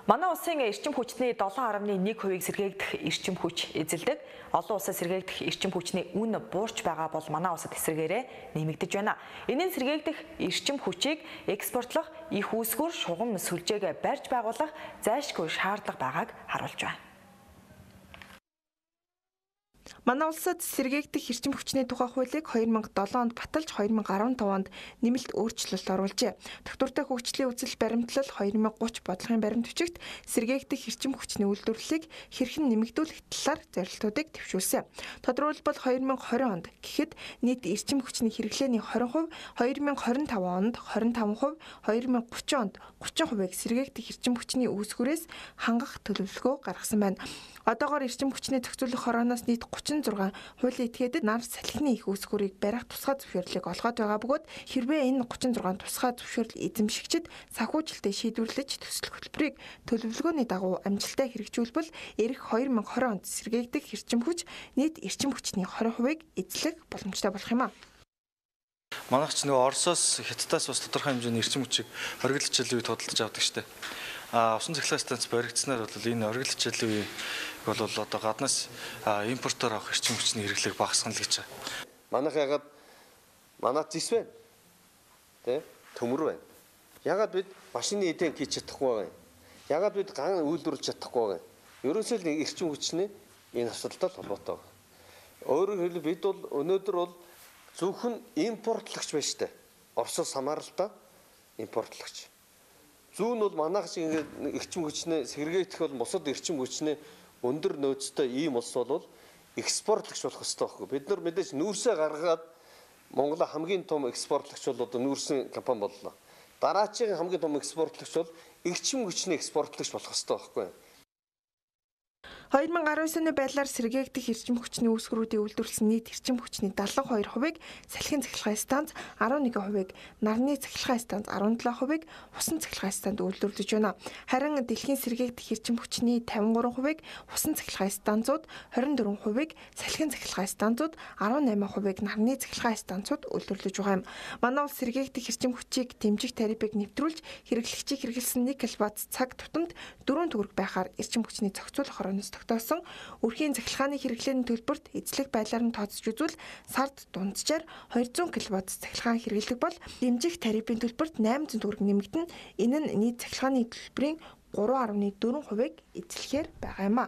Манай улсын эрчим хүчний 7.1%-ийг сэргээгдэх эрчим хүч эзэлдэг. Олон улсад сэргээгдэх эрчим хүчний үн буурч байгаа бол манай улсад эсрэгээрээ нэмэгдэж байна. Энийн сэргээгдэх эрчим хүчийг экспортлох, их үүсгэр, шугам сүлжээг барьж байгуулах зайлшгүй шаардлага байгааг харуулж байна. Манай улсад сэргээгдэх эрчим хүчний тухай хуулийг 2007 онд баталж 2015 онд нэмэлт өөрчлөлт оруулжээ. Тогтвортой хөгжлийн үзэл баримтлал 2030 бодлогын баримт бичигт сэргээгдэх эрчим хүчний үйлдвэрлэлийг хэрхэн нэмэгдүүлэх талаар зорилтуудыг төвшүүлсэн. Тодорхойлбол 2020 онд гэхэд нийт эрчим хүчний хэрэглээний 20%, 2025 онд 25%, 2030 онд 30%-ийг сэргээгдэх эрчим хүчний үүсгэрээс хангах төлөвлөгөө гаргасан байна. Одоогоор эрчим хүчний зохицуулах хорооноос нийт 36 хуулийн этгээдэд нар салхины их үүсгэрийг барих тусгай зөвшөөрлийг олгоод байгаа бөгөөд хэрвээ энэ 36 тусгай зөвшөөрөл эзэмшигчид санхүүжилтээ шийдвэрлэж төсөл хөтөлбөрийг төлөвлөгөөний дагуу амжилттай хэрэгжүүлбэл эх 2020 онд сэргээгдэх эрчим хүч нийт эрчим хүчний 20%-ийг эзлэх боломжтой болох юм а. Манайх ч нөгөө Оросоос, Хятадаас бас тодорхой хэмжээний эрчим хүчийг оргил хичээлийн үед худалдаж авдаг штеп. Усан цахилгаан станц баригдсанаар бол энэ оргил хичээлийн үе бол одоо гаднаас импортоор авах эрчим хүчний хэрэглээг багасгана л гэж байна. Манайх ягаад манайд зис байна. Тэ? Төмөр байна. Ягаад бид машины эдэн хийж чадахгүй байгаа юм. Ягаад бид ган үйлдвэрлэж чадахгүй байгаа юм. Ерөөсөө л эрчим хүчний энэ асуудалтай холбоотой байна. Өөрөөр хэлбэл бид бол өнөөдөр бол зөвхөн импортлагч байна штэ. Оросоос хамааралтай импортлагч. Зүүн бол манайх шиг ингээд эрчим хүчний сэргээгдэх бол бусад эрчим хүчний өндөр нөөцтэй ийм улс бол экспортлагч болох ёстой байхгүй. Бид нар мэдээж нүүрсээ гаргаад Монголын хамгийн том экспортлагч бол одоо нүүрсэн компани боллоо. Дараачийн хамгийн том экспортлагч бол эрчим хүчний экспортлагч болох ёстой байхгүй. 2019 оны байдлаар сэргээгдэх эрчим хүчний үүсгэрүүдийн үйлдвэрлэсэн нийт эрчим хүчний 72%-ийг салхин цахилгаан станц, 11%-ийг нарны цахилгаан станц, 17%-ийг усан цахилгаан станцд үйлдвэрлэж байна. Харин дэлхийн сэргээгдэх эрчим хүчний 53%-ийг усан цахилгаан станцууд, 24%-ийг салхин цахилгаан станцууд, 18%-ийг нарны цахилгаан станцууд үйлдвэрлэж байгаа юм. Манай улс сэргээгдэх эрчим хүчийг дэмжих тарифыг нэвтрүүлж хэрэглэгчийг хэрэгэлсэн 1 кВт цаг тутамд 4 төгрөг байхаар эрчим хүчний зохицуулах хорооноос тогтоосон өрхийн цахилгааны хэрэглээний төлбөрт эзлэх байдлаар нь тооцож үзвэл сард дунджаар 200 кВт цахилгаан хэрэглэдэг бол дэмжих тарифын төлбөрт 800 төгрөг нэмэгдэн энэ нь нийт цахилгааны төлбөрийн 3.4%-ийг эзлэхээр байгаа юм а.